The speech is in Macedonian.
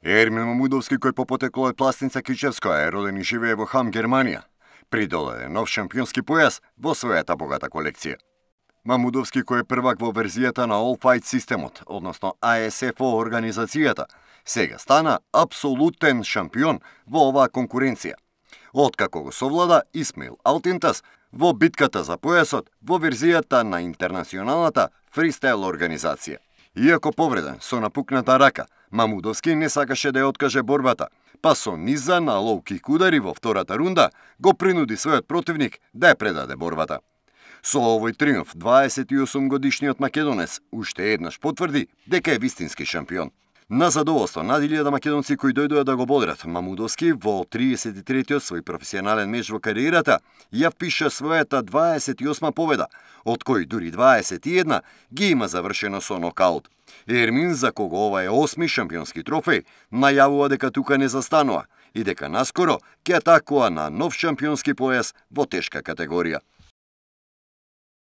Ермин Мамудовски, кој по потекло од Пластница Кичевска е роден и живее во Хам, Германија, придоле нов шампионски појас во својата богата колекција. Мамудовски, кој е првак во верзијата на All Fight системот, односно ASFO организацијата, сега стана апсолутен шампион во оваа конкуренција. Откако го совлада Исмаил Алтинтас во битката за појасот во верзијата на интернационалната фристайл организација. Иако повреден со напукната рака, Мамудовски не сакаше да ја откаже борбата, па со низа на лоу-кик удари во втората рунда го принуди својот противник да ја предаде борбата. Со овој триумф 28 годишниот македонец уште еднаш потврди дека е вистински шампион. На задоволство над 1000 македонци кои дојдоа да го бодрат, Мамудовски во 33-тиот свој професионален меч во кариерата ја впиша својата 28 победа, од кои дури 21 ги има завршено со нокаут. Ермин, за кого ова е 8ми шампионски трофеј, најавува дека тука не застанува и дека наскоро ќе атакува на нов шампионски појас во тешка категорија.